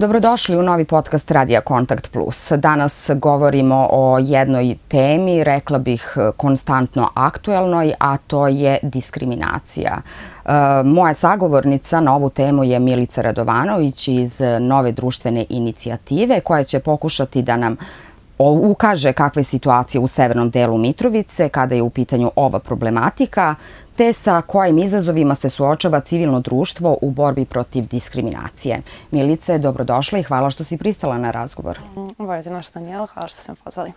Dobrodošli u novi podcast Radija Kontakt Plus. Danas govorimo o jednoj temi, rekla bih konstantno aktuelnoj, a to je diskriminacija. Moja sagovornica na ovu temu je Milica Radovanović iz Nove društvene inicijative, koja će pokušati da nam ukaže kakva je situacija u severnom delu Mitrovice kada je u pitanju ova problematika, te sa kojim izazovima se suočava civilno društvo u borbi protiv diskriminacije. Milice, dobrodošla i hvala što si pristala na razgovor. Volite naš Danijela, hvala što ste me pozvali.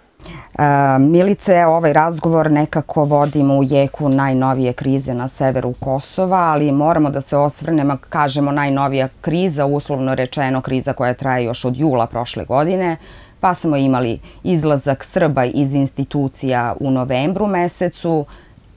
Milice, ovaj razgovor nekako vodimo u jeku najnovije krize na severu Kosova, ali moramo da se osvrnemo, kažemo najnovija kriza, uslovno rečeno kriza koja traje još od jula prošle godine, pa smo imali izlazak Srba iz institucija u novembru mesecu,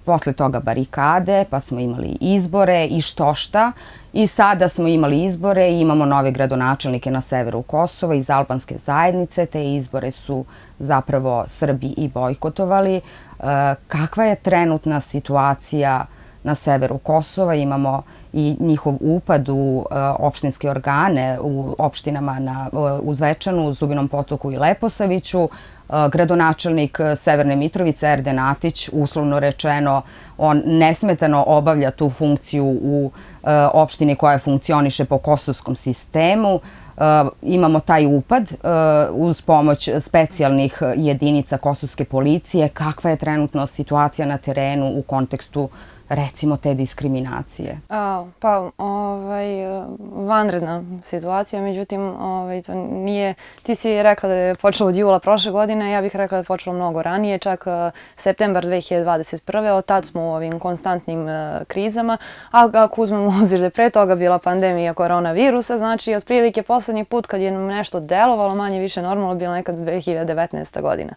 posle toga barikade, pa smo imali izbore i štošta. I sada smo imali izbore i imamo nove gradonačelnike na severu Kosova iz albanske zajednice. Te izbore su zapravo Srbi i bojkotovali. Kakva je trenutna situacija na severu Kosova? Imamo i njihov upad u opštinske organe u opštinama u Zvečanu, Zubinom Potoku i Leposaviću. Gradonačelnik Severne Mitrovice, Erden Atić, uslovno rečeno, on nesmetano obavlja tu funkciju u opštini koja funkcioniše po kosovskom sistemu. Imamo taj upad uz pomoć specijalnih jedinica kosovske policije. Kakva je trenutno situacija na terenu u kontekstu, recimo, te diskriminacije? Vanredna situacija, međutim, to nije, ti si rekla da je počelo od jula prošle godine, ja bih rekla da je počelo mnogo ranije, čak septembar 2021. Od tad smo u ovim konstantnim krizama, a ako uzmemo u obzir da je pre toga bila pandemija koronavirusa, znači otprilike poslednji put kad je nešto delovalo manje više normalno bila nekad 2019. godina.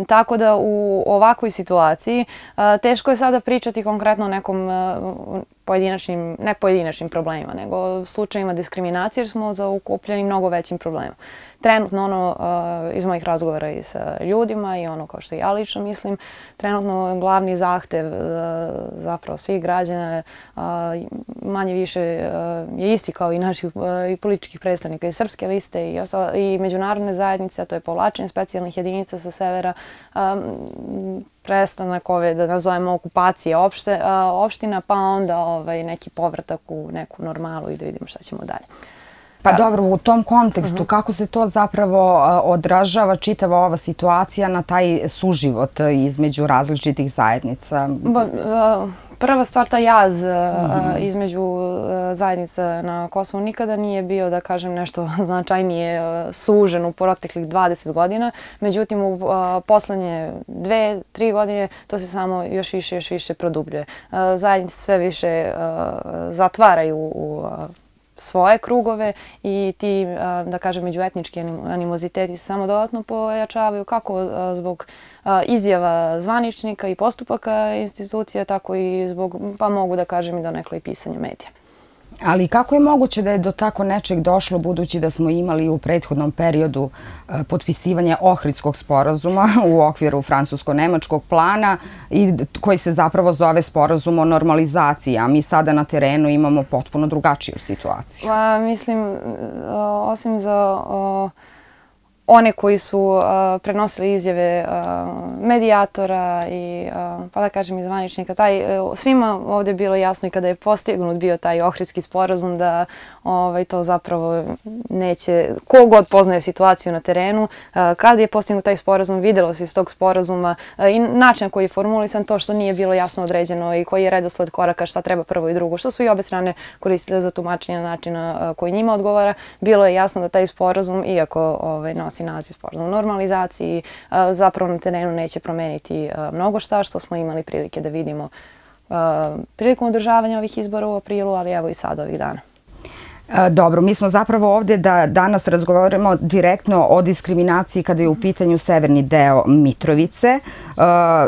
Tako da u ovakvoj situaciji teško je sada pričati konkretno o nekom pojedinačnim, ne pojedinačnim problemima, nego slučajima diskriminacije, jer smo zaokupljeni mnogo većim problemima. Trenutno, iz mojih razgovora i sa ljudima i kao što ja lično mislim, trenutno glavni zahtev zapravo svih građana manje više je isti kao i naših i političkih predstavnika iz Srpske liste i međunarodne zajednice, a to je povlačenje specijalnih jedinica sa severa, prestanak ove, da nazovemo, okupacije opština, pa onda neki povratak u neku normalu i da vidimo šta ćemo dalje. Pa dobro, u tom kontekstu, kako se to zapravo odražava čitava ova situacija na taj suživot između različitih zajednica? Prva stvar, ta jaz između zajednica na Kosovu nikada nije bio, da kažem, nešto značajnije sužen u proteklih 20 godina. Međutim, u poslednje 2-3 godine to se samo još više produbljuje. Zajednice sve više zatvaraju u svoje krugove i ti, da kažem, međuetnički animoziteti se samo dodatno pojačavaju, kako zbog izjava zvaničnika i postupaka institucija, tako i zbog, pa mogu da kažem, i donekle i pisanja medija. Ali kako je moguće da je do tako nečeg došlo, budući da smo imali u prethodnom periodu potpisivanje Ohridskog sporazuma u okviru francusko-nemačkog plana i koji se zapravo zove sporazum o normalizaciji, a mi sada na terenu imamo potpuno drugačiju situaciju? Mislim, osim za one koji su prenosili izjave medijatora i, pa da kažem, i zvaničnika, svima ovdje je bilo jasno i kada je postignut bio taj Ohridski sporazum da to zapravo neće, kogod poznaje situaciju na terenu, kada je postignut taj sporazum, videlo se iz tog sporazuma i način koji je formulisan, to što nije bilo jasno određeno i koji je redosled koraka, šta treba prvo i drugo, što su i obe strane koristile za tumačenje načina koji njima odgovara. Bilo je jasno da taj sporazum, iako nosi naziv sporazum o normalizaciji, zapravo na terenu neće promeniti mnogo šta, što smo imali prilike da vidimo prilikom održavanja ovih izbora u aprilu, ali evo i sad ovih dana. Dobro, mi smo zapravo ovdje da danas razgovaramo direktno o diskriminaciji kada je u pitanju severni deo Mitrovice.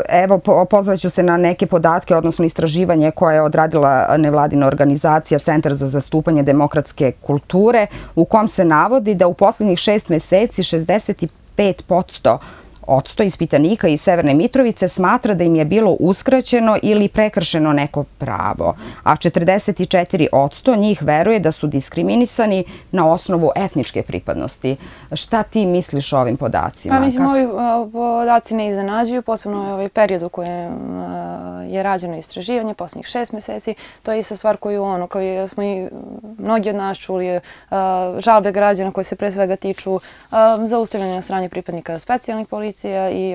Evo, pozvaću se na neke podatke, odnosno istraživanje koje je odradila nevladina organizacija Centar za zastupanje demokratske kulture, u kom se navodi da u poslednjih 6 meseci 65% % ispitanika iz Severne Mitrovice smatra da im je bilo uskraćeno ili prekršeno neko pravo, a 44% njih veruje da su diskriminisani na osnovu etničke pripadnosti. Šta ti misliš o ovim podacima? Pa mislim, ovi podaci ne iznenađuju, posebno ovaj period u kojem je rađeno istraživanje, posljednjih 6 meseci. To je ista stvar koju smo i mnogi od nas čuli, žalbe građana koje se pre svega tiču zaustavljanja na strane pripadnika specijalnih policija i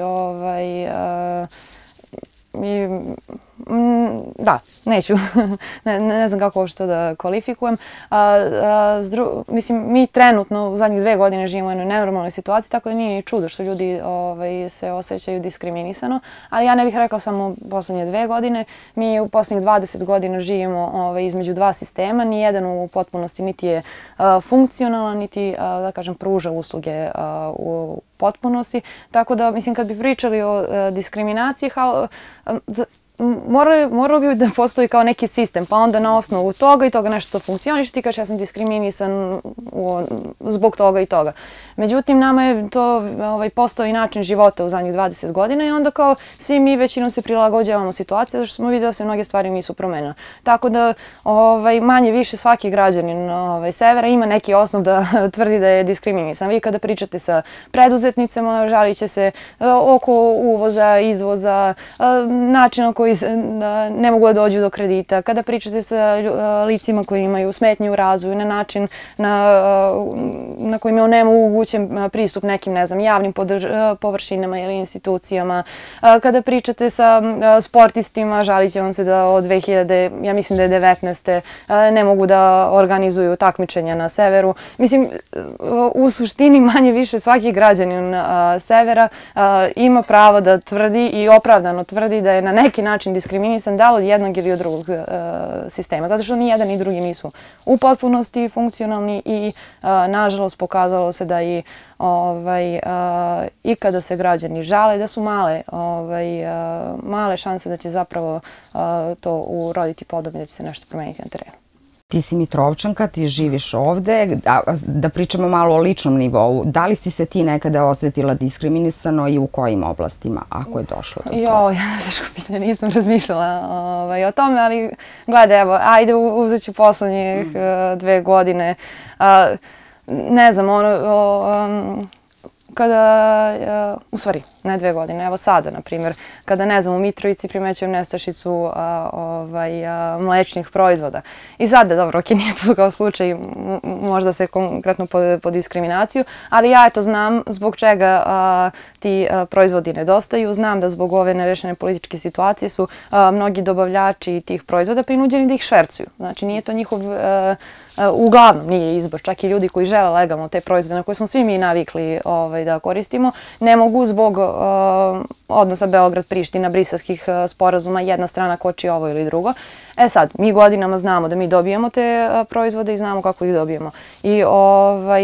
da, neću, ne znam kako uopšte to da kvalifikujem. Mislim, mi trenutno u zadnjih 2 godine živimo u jednoj nenormalnoj situaciji, tako da nije ni čudo što ljudi se osjećaju diskriminisano, ali ja ne bih rekao samo poslednje 2 godine. Mi u poslednjih 20 godina živimo između 2 sistema, nijedan u potpunosti niti je funkcionalan, niti, da kažem, pruža usluge u potpunosti. Tako da, mislim, kad bi pričali o diskriminaciji, moralo bi da postoji kao neki sistem, pa onda na osnovu toga i toga nešto funkcioniš, ti kažeš ja sam diskriminisan zbog toga i toga. Međutim, nama je to postao i način života u zadnjih 20 godina i onda kao svi mi većinom se prilagođavamo situaciji zato što smo vidjeli da se mnoge stvari nisu promenile. Tako da manje više svaki građanin Severa ima neki osnov da tvrdi da je diskriminisan. Vi kada pričate sa preduzetnicama, žalit će se oko uvoza, izvoza, načina koji ne mogu da dođu do kredita. Kada pričate sa licima koji imaju smetnje u razvoju, na način na kojima je onemogućen pristup nekim, ne znam, javnim površinama ili institucijama. Kada pričate sa sportistima, žalit će vam se da od 2000, ja mislim da je 19. ne mogu da organizuju takmičenja na severu. Mislim, u suštini manje više svaki građanin Severa ima pravo da tvrdi i opravdano tvrdi da je na neki način diskriminisan da li od jednog ili od drugog sistema. Zato što ni jedan ni drugi nisu u potpunosti funkcionalni i nažalost pokazalo se da i kada se građani žale da su male šanse da će zapravo to uroditi plodom i da će se nešto promeniti na terenu. Ti si Mitrovčanka, ti živiš ovde, da pričamo malo o ličnom nivou. Da li si se ti nekada osjetila diskriminisano i u kojim oblastima, ako je došlo do toga? Teško pitanje, nisam razmišljala o tome, ali gledaj, evo, ajde uzet ću poslednjih 2 godine. Ne znam, kada, u stvari, ne 2 godine, evo sada, na primjer, kada, ne znam, u Mitrovici primećujem nestašicu mlečnih proizvoda. I sada, dobro, ok, nije to kao slučaj, možda se konkretno po diskriminaciju, ali ja eto znam zbog čega ti proizvodi nedostaju. Znam da zbog ove nerešene političke situacije su mnogi dobavljači tih proizvoda prinuđeni da ih švercuju. Znači, nije to njihov, uglavnom nije izbor. Čak i ljudi koji žele legalno te proizvode na koje smo svi mi navikli da koristimo, ne mogu zbog odnosa Beograd-Priština, briselskih sporazuma, jedna strana koči ovo ili drugo. E sad, mi godinama znamo da mi dobijemo te proizvode i znamo kako ih dobijemo. I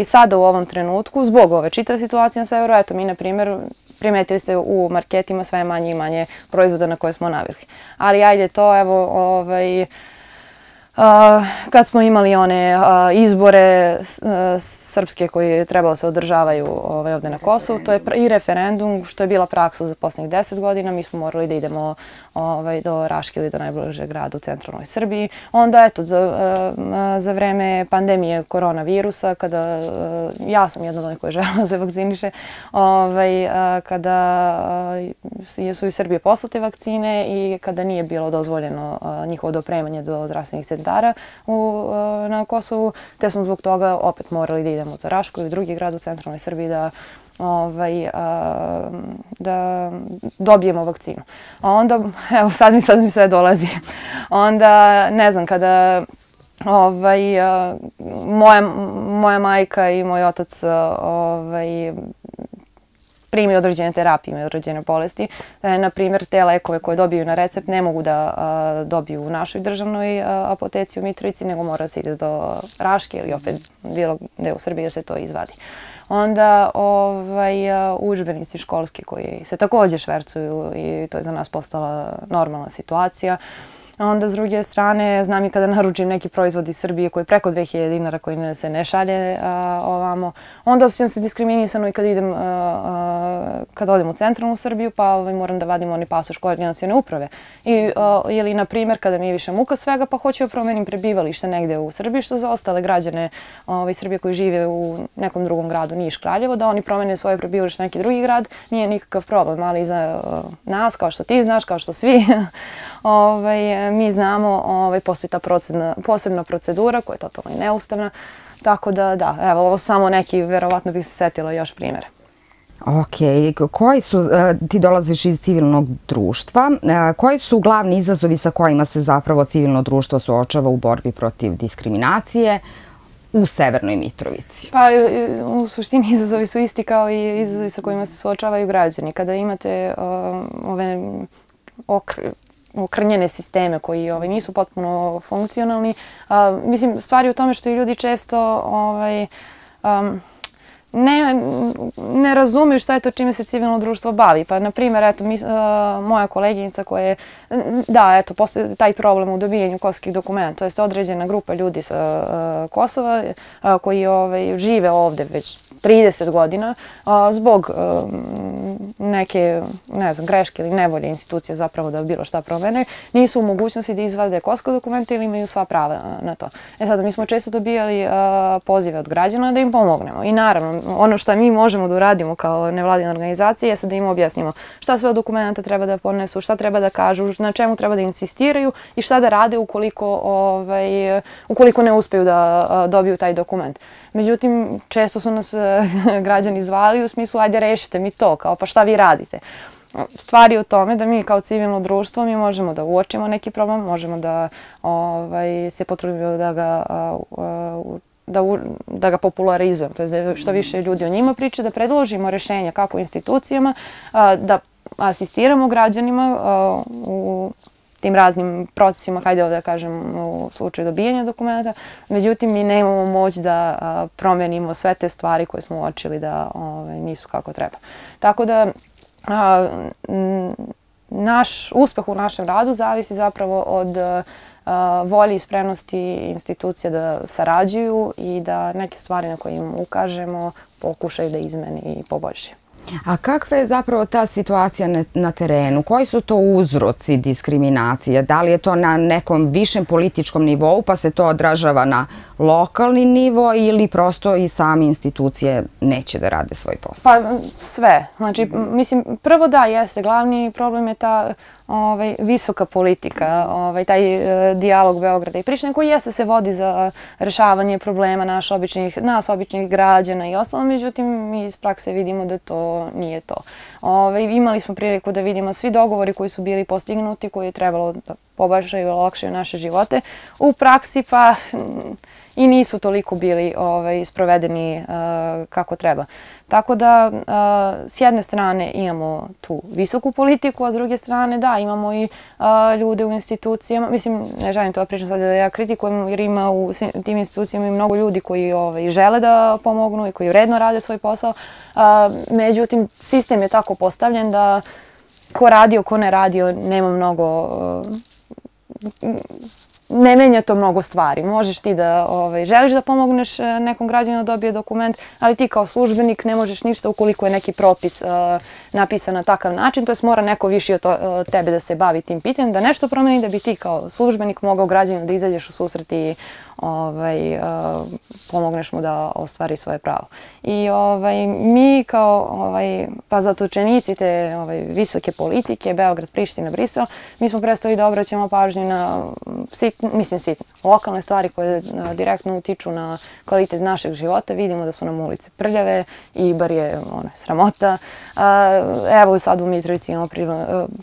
sada u ovom trenutku, zbog ove čitave situacije na severu, eto mi, na primjer, primetili ste u marketima sve manje i manje proizvoda na koje smo navikli. Ali ajde to, evo, kad smo imali one izbore srpske koji trebalo se održavaju ovde na Kosovu, to je i referendum, što je bila praksa za poslednjih 10 godina. Mi smo morali da idemo do Raške ili do najbližeg grada u centralnoj Srbiji. Onda, eto, za vreme pandemije koronavirusa, kada ja sam jedna od onih koja je želela da se vakciniše, kada su iz Srbije poslate vakcine i kada nije bilo dozvoljeno njihovo dopremanje do zdravstvenih centara na Kosovu, te smo zbog toga opet morali da idemo za Rašku ili drugi grad u centralnoj Srbiji da dobijemo vakcinu. Onda, evo sad mi sve dolazi. Onda, ne znam, kada moja majka i moj otac primi određene terapije, imaju određene bolesti. Na primjer, te lekove koje dobiju na recept ne mogu da dobiju u našoj državnoj apoteci u Mitrovici, nego mora se ide do Raške ili opet bilo gde u Srbiji da se to izvadi. Onda udžbenici školski koji se također švercuju i to je za nas postala normalna situacija. Onda s druge strane, znam i kada naručim neki proizvod iz Srbije koji je preko 2000 dinara, koji se ne šalje ovamo, onda osjećam se diskriminisano i kad odem u centralnu Srbiju, pa moram da vadim onaj pasoš koordinacione uprave. Ili, na primjer, kada mi je više muka svega, pa hoću da promenim prebivalište negde u Srbiji, što za ostale građane Srbije koji žive u nekom drugom gradu, Niš, Kraljevo, da oni promene svoje prebivalište u neki drugi grad, nije nikakav problem, ali za nas, kao što ti znaš, kao što svi, mi znamo, postoji ta posebna procedura koja je totalno neustavna, tako da, evo, ovo samo neki, verovatno bih se setila još primjera. Ok, ti dolaziš iz civilnog društva, koji su glavni izazovi sa kojima se zapravo civilno društvo suočava u borbi protiv diskriminacije u Severnoj Mitrovici? Pa u suštini izazovi su isti kao i izazovi sa kojima se suočavaju građani. Kada imate ove okrnjene sisteme koji nisu potpuno funkcionalni, mislim, stvari u tome što i ljudi često ne razumiju šta je to čime se civilno društvo bavi. Pa, na primjer, eto, moja koleginica koja je, da, eto, postoji taj problem u dobijanju kosovskih dokumenta, to jest određena grupa ljudi sa Kosova koji žive ovde već 30 godina zbog neke, ne znam, greške ili nevolje institucije zapravo da bilo šta promene, nisu u mogućnosti da izvade kosovske dokumente ili imaju sva prava na to. Sada, mi smo često dobijali pozive od građana da im pomognemo. I naravno, ono što mi možemo da uradimo kao nevladina organizacija jeste da im objasnimo šta sve od dokumenta treba da ponesu, šta treba da kažu, na čemu treba da insistiraju i šta da rade ukoliko ne uspeju da dobiju taj dokument. Međutim, često su nas građani zvali u smislu ajde rešite mi to, kao pa šta vi radite. Stvar je u tome da mi kao civilno društvo mi možemo da uočimo neki problem, možemo da se potrudimo da ga popularizujemo, to je da što više ljudi o njima priče, da predložimo rešenja kako institucijama, da asistiramo građanima u tim raznim procesima, hajde ovdje da kažem u slučaju dobijanja dokumenta, međutim mi nemamo moć da promenimo sve te stvari koje smo uočili da nisu kako treba. Tako da naš uspeh u našem radu zavisi zapravo od volje i spremnosti institucija da sarađuju i da neke stvari na koje im ukažemo pokušaju da izmeni i poboljšaju. A kakva je zapravo ta situacija na terenu? Koji su to uzroci diskriminacije? Da li je to na nekom višem političkom nivou pa se to odražava na lokalni nivo ili prosto i same institucije neće da rade svoj posao? Pa sve. Znači, mislim, prvo da, jeste. Glavni problem je ta visoka politika, taj dijalog Beograda i Prištine koji jeste se vodi za rešavanje problema nas običnih građana i ostalo, međutim mi iz prakse vidimo da to nije to. Imali smo priliku da vidimo svi dogovori koji su bili postignuti, koji je trebalo da poboljšaju i olakšaju naše živote. U praksi pa i nisu toliko bili sprovedeni kako treba. Tako da, s jedne strane imamo tu visoku politiku, a s druge strane, da, imamo i ljude u institucijama. Mislim, ne želim to pričam sad da ja kritikujem, jer ima u tim institucijama i mnogo ljudi koji žele da pomognu i koji vredno rade svoj posao. Međutim, sistem je tako postavljen da ko radio, ko ne radio, nema mnogo... Ne menja to mnogo stvari. Možeš ti da želiš da pomogneš nekom građaninu da dobije dokument, ali ti kao službenik ne možeš ništa ukoliko je neki propis napisan na takav način, to jest mora neko više od tebe da se bavi tim pitanjem, da nešto promeni da bi ti kao službenik mogao građaninu da izađeš u susret i pomogneš mu da ostvari svoje pravo. I mi kao zatočenici te visoke politike, Beograd, Priština, Brisel, mi smo prestali da obraćamo pažnju na lokalne stvari koje direktno utiču na kvalitet našeg života. Vidimo da su nam ulice prljave i bar je sramota. Evo sad u Mitrovici imamo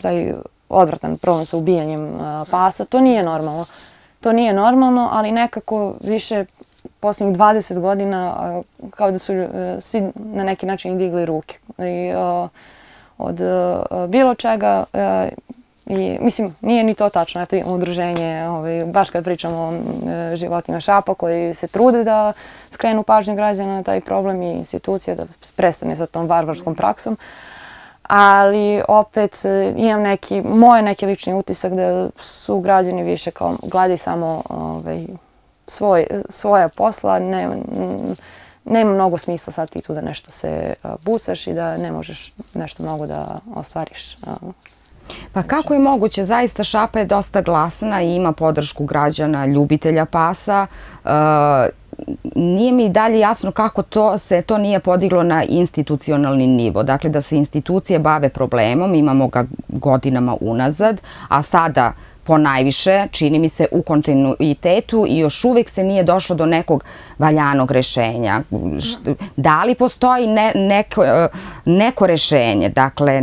taj odvratan problem sa ubijanjem pasa. To nije normalno. To nije normalno, ali nekako više posljednjih 20 godina kao da su svi na neki način digli ruke od bilo čega. Mislim, nije ni to tačno. Eto imamo udruženje, baš kad pričamo o životinjama Šapa koji se trude da skrenu pažnju građana na taj problem i institucija da prestane sa tom varvarskom praksom. ali opet imam neki lični utisak da su građani više kao gledaju samo svoja posla, nema mnogo smisla sad ti tu da nešto se busaš i da ne možeš nešto mnogo da ostvariš. Pa kako je moguće? Zaista Šapa je dosta glasna i ima podršku građana, ljubitelja pasa. Nije mi dalje jasno kako se to nije podiglo na institucionalni nivo. Dakle, da se institucije bave problemom, imamo ga godinama unazad, a sada ponajviše, čini mi se, u kontinuitetu i još uvijek se nije došlo do nekog valjanog rešenja. Da li postoji neko rešenje, dakle,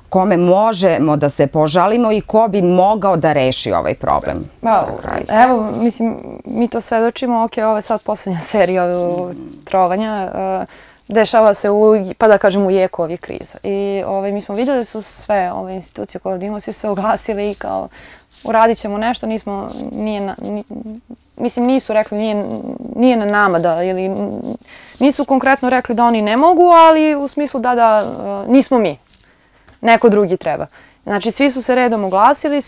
kome možemo da se požalimo i ko bi mogao da reši ovaj problem? Evo, mislim, mi to svedočimo, ovo je sad poslednja serija trovanja, dešava se pa da kažem u jeku ovih kriza. I mi smo vidjeli da su sve ove institucije koje imamo, svi se oglasili i kao uradit ćemo nešto, mislim nisu rekli, nije na nama da, ili nisu konkretno rekli da oni ne mogu, ali u smislu da nismo mi, neko drugi treba. Znači, svi su se redom oglasili,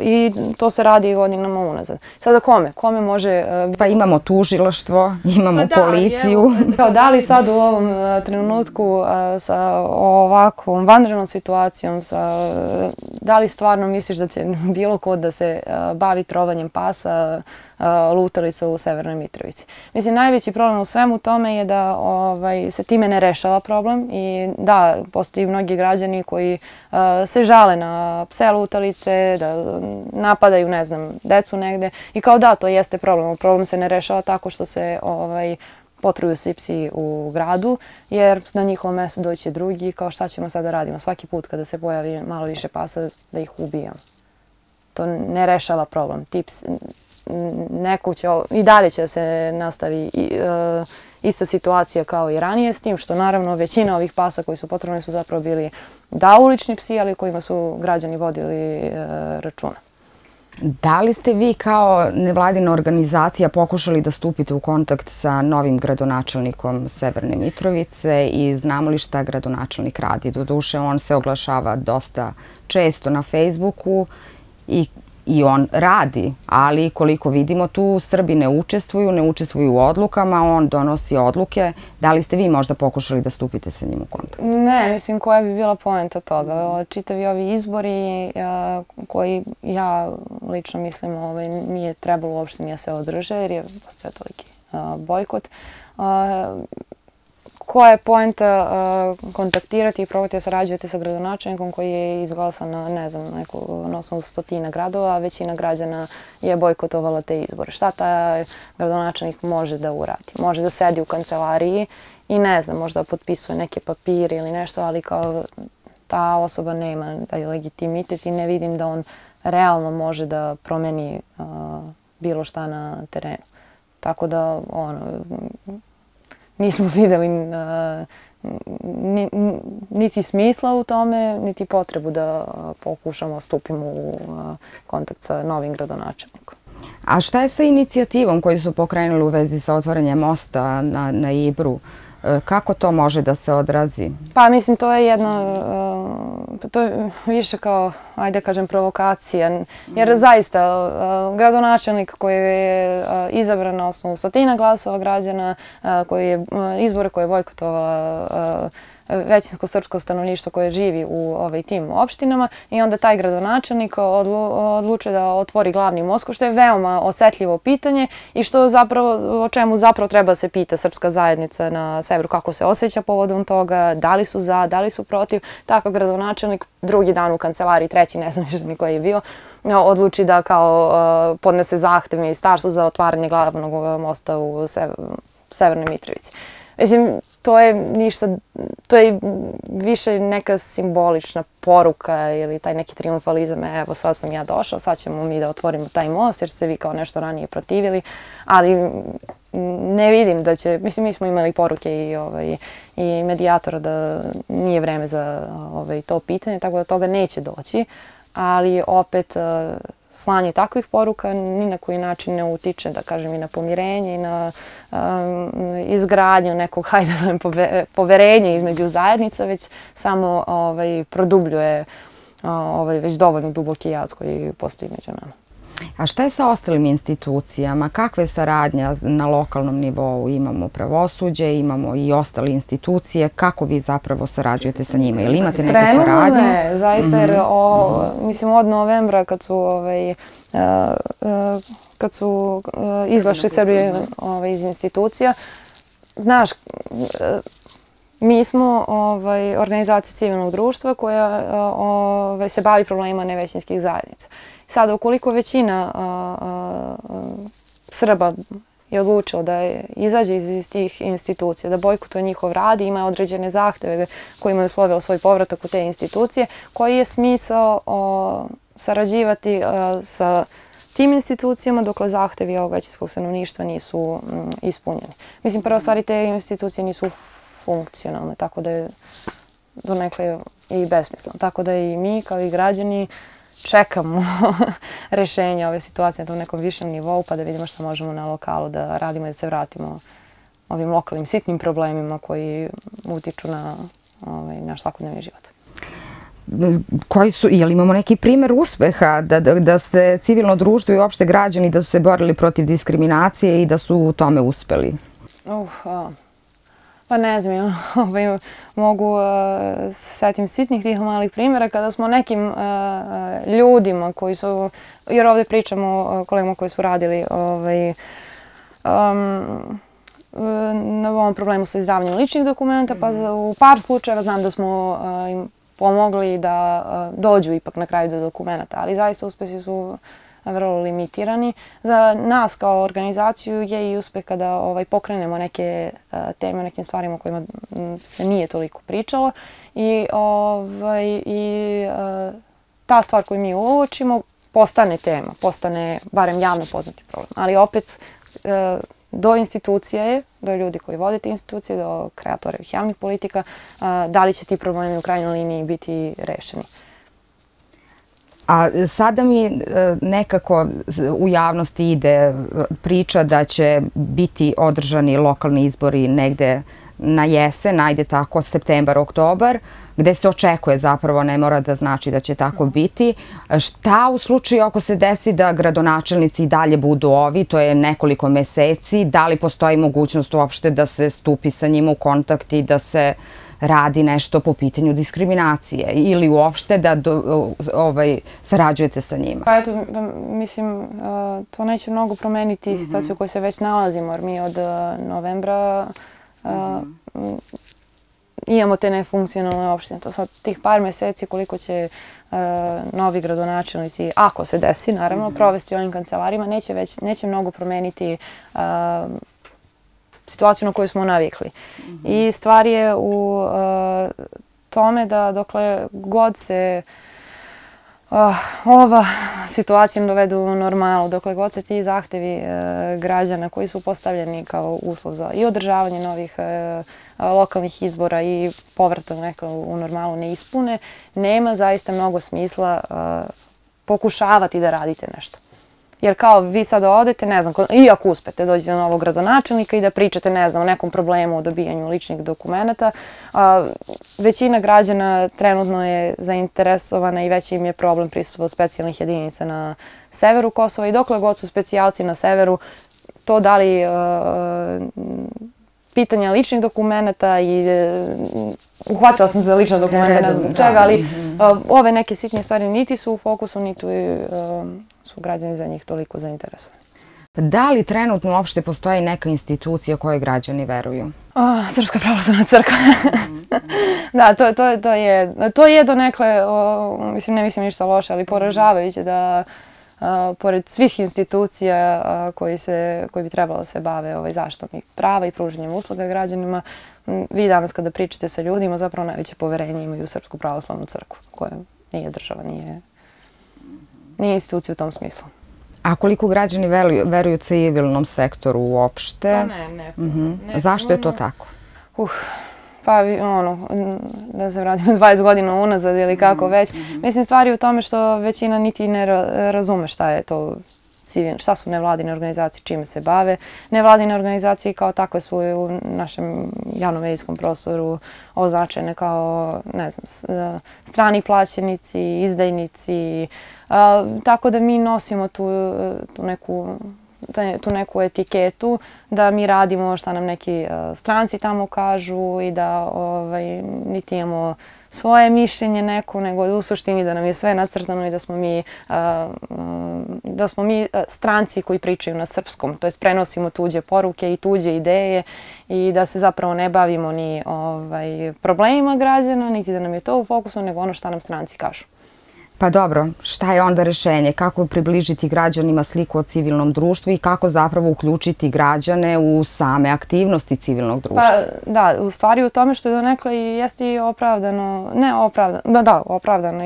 i to se radi godinama unazad. Sada kome? Kome može... Pa imamo tužilaštvo, imamo policiju. Da li sad u ovom trenutku sa ovakvom vanrednom situacijom, da li stvarno misliš da će bilo ko da se bavi trovanjem pasa, lutalica u Severnoj Mitrovici? Mislim, najveći problem u svemu tome je da se time ne rešava problem i da, postoji mnogi građani koji se žale na pse lutalice, da napadaju, ne znam, decu negde i kao da, to jeste problem. Problem se ne rešava tako što se potruju svi psi u gradu, jer na njihovo mesto doći drugi, kao šta ćemo sada radimo svaki put kada se pojavi malo više pasa da ih ubijam. To ne rešava problem. Neko će, i dalje će se nastavi ista situacija kao i ranije, s tim što naravno većina ovih pasa koji su potrebni su zapravo bili ulični psi, ali kojima su građani vodili računa. Da li ste vi kao nevladina organizacija pokušali da stupite u kontakt sa novim gradonačelnikom Severne Mitrovice i znamo li šta gradonačelnik radi? Doduše, on se oglašava dosta često na Facebooku i on radi, ali koliko vidimo tu Srbi ne učestvuju u odlukama, on donosi odluke. Da li ste vi možda pokušali da stupite sa njim u kontakt? Ne, mislim koja bi bila poenta toga. Čitavi ovi izbori koji ja lično mislim nije trebalo uopšte nije se održe jer je postoje toliki bojkot. Koja je poenta kontaktirati i probati da sarađujete sa gradonačelnikom koji je izglasan na, ne znam, na osnovu 100 gradova, a većina građana je bojkotovala te izbore. Šta taj gradonačelnik može da uradi? Može da sedi u kancelariji i ne znam, možda potpisuje neke papire ili nešto, ali kao ta osoba nema taj legitimitet i ne vidim da on realno može da promeni bilo šta na terenu. Tako da, nismo videli niti smisla u tome, niti potrebu da pokušamo stupimo u kontakt sa novim gradonačelnikom. A šta je sa inicijativom koju su pokrenuli u vezi sa otvaranjem mosta na Ibru? Kako to može da se odrazi? Pa mislim, to je to je više kao, ajde kažem, provokacija. Jer zaista, gradonačelnik koji je izabran na osnovu 100 glasova građana, izbore koje je bojkotovala većinsko srpsko stanovništvo koje živi u tim opštinama i onda taj gradonačelnik odlučuje da otvori glavni most, što je veoma osetljivo pitanje i o čemu zapravo treba se pita srpska zajednica na severu, kako se osjeća povodom toga, da li su za, da li su protiv. Tako gradonačelnik drugi dan u kancelariji, treći, ne znam više ni koji je bio, odluči da kao podnese zahtev ministarstvu za otvaranje glavnog mosta u Severnoj Mitrovici. Mislim, to je više neka simbolična poruka ili taj neki triumfalizam, evo sad sam ja došao, sad ćemo mi da otvorimo taj most jer ste vi kao nešto ranije protivili, ali ne vidim da će, mislim mi smo imali poruke i medijatora da nije vreme za to pitanje, tako da toga neće doći, ali opet slanje takvih poruka ni na koji način ne utiče, da kažem, i na pomirenje i na izgradnju nekog, hajde da zovem, poverenja između zajednica, već samo produbljuje već dovoljno duboki jaz koji postoji među nama. A šta je sa ostalim institucijama? Kakva je saradnja na lokalnom nivou? Imamo pravosuđe, imamo i ostale institucije. Kako vi zapravo sarađujete sa njima? Ili imate neke saradnje? Ne, zaista, jer mislim od novembra kad su izašli Srbije iz institucija, znaš, mi smo organizacija civilnog društva koja se bavi problemima nevećinskih zajednica. Sada, ukoliko većina Srba je odlučila da izađe iz tih institucija, da bojkotuje njihov rad i ima određene zahteve koji imaju uslovio svoj povratak u te institucije, koji je smisao sarađivati sa tim institucijama dokle zahtevi ovog većinskog stanovništva nisu ispunjeni. Mislim, prva stvari, te institucije nisu funkcionalne, tako da je donekle i besmisleno. Tako da i mi kao i građani čekamo rešenje ove situacije na tom nekom višem nivou pa da vidimo šta možemo na lokalu da radimo i da se vratimo ovim lokalnim sitnim problemima koji utiču na naš svakodnevni život. Je li imamo neki primer uspeha da ste civilno društvo i uopšte građani da su se borili protiv diskriminacije i da su u tome uspeli? Pa ne znam, mogu setim sitnih tih malih primjera kada smo nekim ljudima koji su, jer ovdje pričamo o kolegama koji su radili na ovom problemu sa izdavanjem ličnih dokumenta, pa u par slučajeva znam da smo im pomogli da dođu ipak na kraju do dokumenta, ali zaista uspesi su vrlo limitirani. Za nas kao organizaciju je i uspeh kada pokrenemo neke teme o nekim stvarima o kojima se nije toliko pričalo i ta stvar koju mi uočimo postane tema, postane barem javno poznati problem. Ali opet do institucija je, do ljudi koji vode te institucije, do kreatora javnih politika, da li će ti problemi u krajnjoj liniji biti rešeni. A sada mi nekako u javnosti ide priča da će biti održani lokalni izbori negde na jesen, ajde tako, septembar, oktobar, gde se očekuje zapravo, ne mora da znači da će tako biti. Šta u slučaju ako se desi da gradonačelnici i dalje budu ovi, to je nekoliko meseci, da li postoji mogućnost uopšte da se stupi sa njima u kontakt i da se radi nešto po pitanju diskriminacije ili uopšte da sarađujete sa njima? Pa eto, mislim, to neće mnogo promeniti situaciju u kojoj se već nalazimo, jer mi od novembra imamo te nefunkcionalne opštine. To sad tih par meseci koliko će novi gradonačelnici, ako se desi, naravno, provesti u ovim kancelarima, neće mnogo promeniti situaciju na koju smo navikli. I stvar je u tome da dokle god se ova situacija dovedu u normalu, dokle god se ti zahtevi građana koji su postavljeni kao uslov za i održavanje novih lokalnih izbora i povratak u normalu ne ispune, nema zaista mnogo smisla pokušavati da radite nešto. Jer kao vi sada odete, ne znam, i ako uspete dođete do novog gradonačelnika i da pričate, ne znam, o nekom problemu o dobijanju ličnih dokumenta, većina građana trenutno je zainteresovana i već im je problem prisustvo specijalnih jedinica na severu Kosova i dokle god su specijalci na severu, to da li pitanja ličnih dokumenta i uhvatila sam se za lična dokumenta, ne znam čega, ali ove neke sitnije stvari niti su u fokusu, niti su građani za njih toliko zainteresovani. Da li trenutno uopšte postoji neka institucija kojoj građani veruju? Srpska pravoslavna crkva. Da, to je donekle, mislim, ne mislim ništa loše, ali poražavajuće da pored svih institucija koji bi trebalo da se bave zaštitom prava i pružanjem usluga građanima, vi danas kada pričate sa ljudima zapravo najveće poverenje imaju u Srpsku pravoslavnu crkvu, koja nije država, nije institucija u tom smislu. A koliko građani veruju civilnom sektoru uopšte? Ne. Zašto je to tako? Pa ono, da se vratimo 20 godina unazad ili kako već. Mislim, stvari u tome što većina niti ne razume šta je to šta su nevladine organizacije, čime se bave. Nevladine organizacije kao takve su u našem javnom-medijskom prostoru označene kao, ne znam, strani plaćenici, izdajnici. Tako da mi nosimo tu neku etiketu da mi radimo šta nam neki stranci tamo kažu i da niti imamo svoje mišljenje neko, nego u suštini da nam je sve nacrtano i da smo mi stranci koji pričaju na srpskom, to jest prenosimo tuđe poruke i tuđe ideje i da se zapravo ne bavimo ni problemima građana, niti da nam je to u fokusu, nego ono šta nam stranci kažu. Pa dobro, šta je onda rešenje? Kako približiti građanima sliku o civilnom društvu i kako zapravo uključiti građane u same aktivnosti civilnog društva? Pa da, u stvari u tome što je donekle jeste i opravdano, ne opravdano, da, opravdano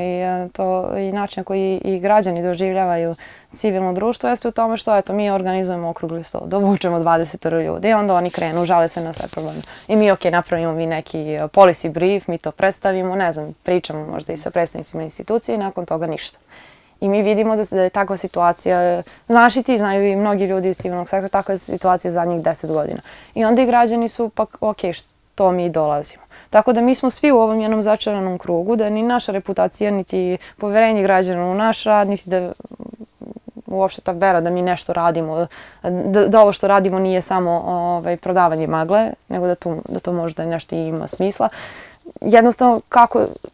i način na koji i građani doživljavaju civilno društvo jeste u tome što mi organizujemo okrugli sto, dovučemo 20 ljudi i onda oni krenu, žale se na sve probleme. I mi, napravimo mi neki policy brief, mi to predstavimo, ne znam, pričamo možda i sa predstavnicima institucije i nakon toga ništa. I mi vidimo da je takva situacija, znaš i ti, znaju i mnogi ljudi iz civilnog sektora, takva je situacija zadnjih 10 godina. I onda i građani su pa, što mi dolazimo. Tako da mi smo svi u ovom jednom začaranom krugu, da ni naša reputacija, niti poverenje građana u naš rad, niti da uopšte ta vera da mi nešto radimo, da ovo što radimo nije samo prodavanje magle, nego da to možda nešto ima smisla. Jednostavno,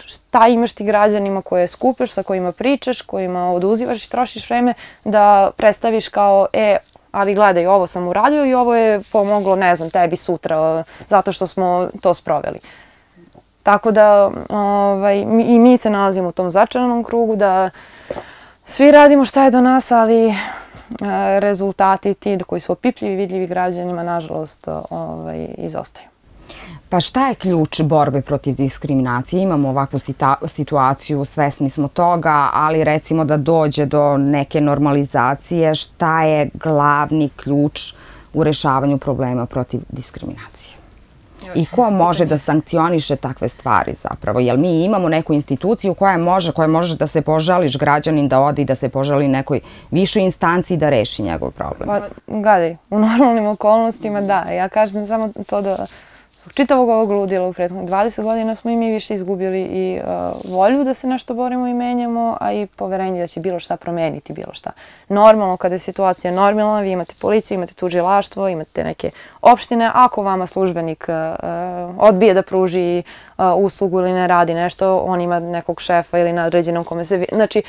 šta imaš ti građanima koje skupiš, sa kojima pričaš, kojima oduzivaš i trošiš vreme, da predstaviš kao, ali gledaj, ovo sam uradio i ovo je pomoglo, ne znam, tebi sutra, zato što smo to sproveli. Tako da i mi se nalazimo u tom začaranom krugu, da svi radimo šta je do nas, ali rezultati ti koji su opipljivi i vidljivi građanima, nažalost, izostaju. Pa šta je ključ borbe protiv diskriminacije? Imamo ovakvu situaciju, svesni smo toga, ali recimo da dođe do neke normalizacije, šta je glavni ključ u rešavanju problema protiv diskriminacije? I ko može da sankcioniše takve stvari zapravo? Jer mi imamo neku instituciju koja može da se požališ građanin da ode i da se požali nekoj višoj instanciji da reši njegov problem. Pa, gledaj, u normalnim okolnostima da. Ja kažem samo to da čitavog ovog ludila u prethodnih 20 godina smo i mi više izgubili i volju da se nešto borimo i menjamo, a i poverenje da će bilo šta promeniti, bilo šta. Normalno, kada je situacija normalna, vi imate policiju, imate tužilaštvo, imate neke opštine. Ako vama službenik odbije da pruži uslugu ili ne radi nešto, on ima nekog šefa ili nadređenog kome se... Znači,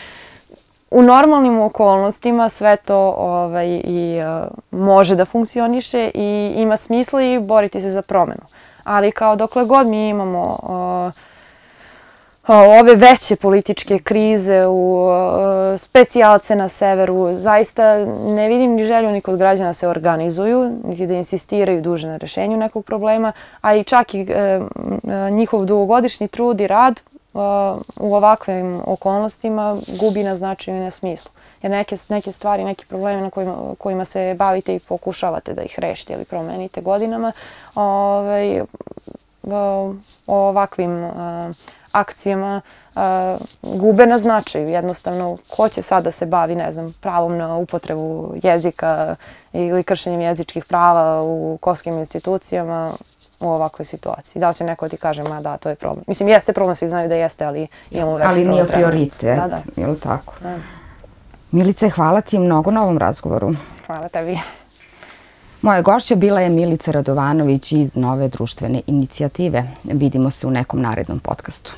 u normalnim okolnostima sve to može da funkcioniše i ima smisla i boriti se za promenu. Ali kao dokle god mi imamo ove veće političke krize, specijalce na severu, zaista ne vidim ni želju ni kod građana da se organizuju, niti da insistiraju duže na rešenju nekog problema, a i čak i njihov dugogodišnji trud i rad u ovakvim okolnostima gubi na značaju i na smislu. Jer neke stvari, neki problemi na kojima se bavite i pokušavate da ih rešite ili promenite godinama, ovakvim akcijama gube na značaju. Jednostavno, ko će sad da se bavi, ne znam, pravom na upotrebu jezika ili kršenjem jezičkih prava u kosovskim institucijama u ovakvoj situaciji. Da li će neko ti kaže, ma da, to je problem. Mislim, jeste problem, svi znaju da jeste, ali imamo veći problem. Ali nije prioritet, je li tako? Milice, hvala ti mnogo na ovom razgovoru. Hvala tebi. Moja gošća bila je Milica Radovanović iz Nove društvene inicijative. Vidimo se u nekom narednom podcastu.